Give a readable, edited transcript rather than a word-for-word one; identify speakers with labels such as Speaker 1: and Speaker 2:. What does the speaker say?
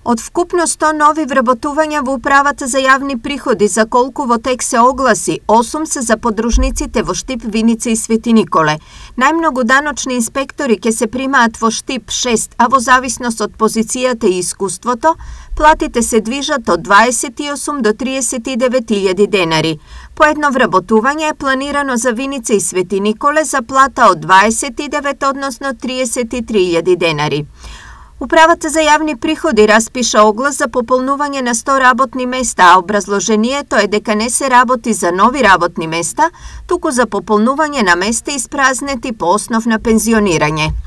Speaker 1: Од вкупно 100 нови вработувања во Управата за јавни приходи, за колку во тек се огласи, 8 се за подружниците во Штип, Виница и Свети Николе. Најмногу даночни инспектори ќе се примаат во Штип 6, а во зависност од позицијата и искуството, платите се движат од 28 до 39.000 денари. По едно вработување е планирано за Виница и Свети Николе за плата од 29, односно 33.000 денари. Управата за јавни приходи распиша оглас за пополнување на 100 работни места, а образложението е дека не се работи за нови работни места, туку за пополнување на места испразнети по основ на пензионирање.